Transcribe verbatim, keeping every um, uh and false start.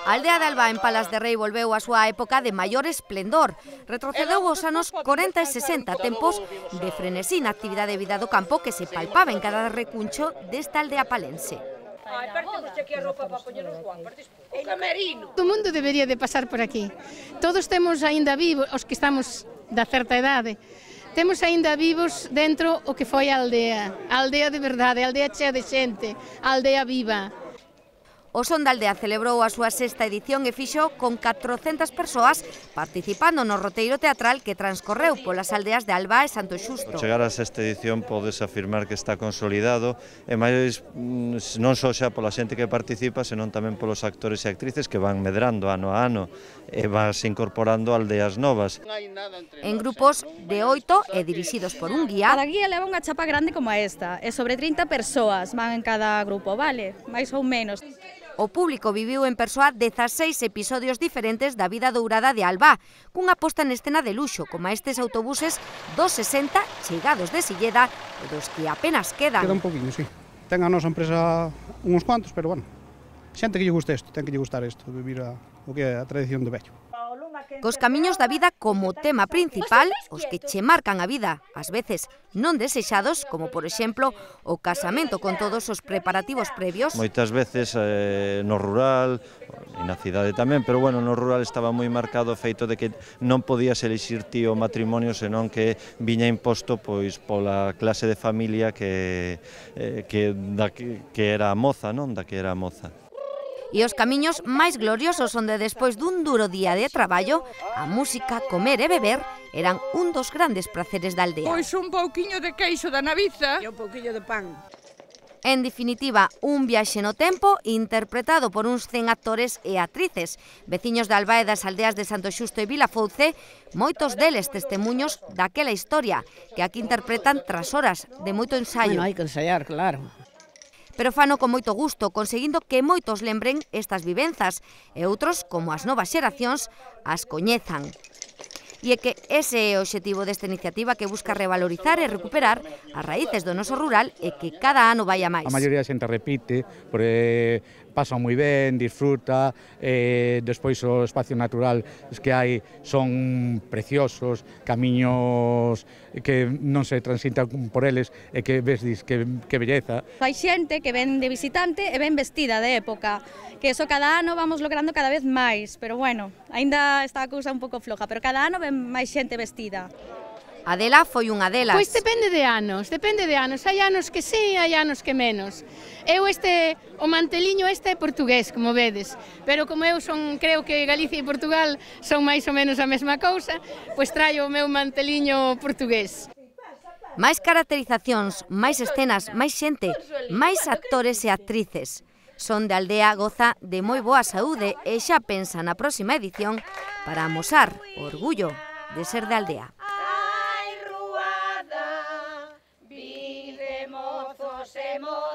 A aldea de Alba en Palas de Rei volveu a súa época de maior esplendor. Retrocedeu aos anos corenta e sesenta, tempos de frenesí na actividade de vida do campo que se palpaba en cada recuncho desta aldea palense. O mundo debería de pasar por aquí. Todos temos aínda vivos, os que estamos da certa idade, temos aínda vivos dentro o que foi a aldea. A aldea de verdade, a aldea chea de xente, a aldea viva. O Son da Aldea celebrou a súa sexta edición e fixo con catrocentas persoas participando no roteiro teatral que transcorreu polas aldeas de Alba e Santo Xusto. Ao chegar a sexta edición podes afirmar que está consolidado e máis non só xa pola xente que participa, senón tamén polos actores e actrices que van medrando ano a ano e vas incorporando aldeas novas. En grupos de oito e dirixidos por un guía. Cada guía leva unha chapa grande como esta e sobre trinta persoas van en cada grupo, vale? Mais ou menos. O público viviu en persoa dezaseis episodios diferentes da vida dourada de Alba, cunha posta en escena de luxo, como estes autobuses dos sesenta chegados de Silleda e dos que apenas quedan. Queda un poquinho, sí. Ten a nosa empresa uns cuantos, pero bueno, xente que lle guste isto, ten que lle gustar isto, vivir a, o que é a tradición do vello. Cos camiños da vida como tema principal, os que che marcan a vida, ás veces non desexados, como por exemplo o casamento con todos os preparativos previos. Moitas veces eh, no rural, e na cidade tamén, pero bueno, no rural estaba moi marcado o feito de que non podías elixir ti o matrimonio, senón que viña imposto pois pola clase de familia que, eh, que, da, que, que era a moza, non? Da que era a moza. E os camiños máis gloriosos onde despois dun duro día de traballo, a música, comer e beber eran un dos grandes praceres da aldea. Pois un pouquiño de queixo da Naviza e un pouquiño de pan. En definitiva, un viaxe no tempo interpretado por uns cen actores e actrices, veciños de Alba e das aldeas de Santo Xusto e Vilafouce, moitos deles testemuños daquela historia que aquí interpretan tras horas de moito ensaio. Bueno, hai que ensaiar, claro. Pero fano con moito gusto, conseguindo que moitos lembren estas vivenzas e outros, como as novas xeracións, as coñezan. E é que ese é o obxectivo desta iniciativa que busca revalorizar e recuperar as raíces do noso rural e que cada ano vai a máis. A maioría da xente repite, porque pasa moi ben, disfruta, eh, despois o espacio natural que hai son preciosos, camiños que non se transitan por eles e que ves dis que, que belleza. Hai xente que ven de visitante e ven vestida de época, que eso cada ano vamos logrando cada vez máis, pero bueno, aínda está a cousa un pouco floja, pero cada ano ven máis xente vestida. Adela foi unha delas. Pois depende de anos, depende de anos. Hai anos que sí, hai anos que menos. Eu este, o manteliño este é portugués, como vedes, pero como eu son, creo que Galicia e Portugal son máis ou menos a mesma cousa, pois traio o meu manteliño portugués. Máis caracterizacións, máis escenas, máis xente, máis actores e actrices. Son de Aldea goza de moi boa saúde e xa pensa na próxima edición para amosar o orgullo de ser de Aldea. Ai, ruada, vide mozos e mozos.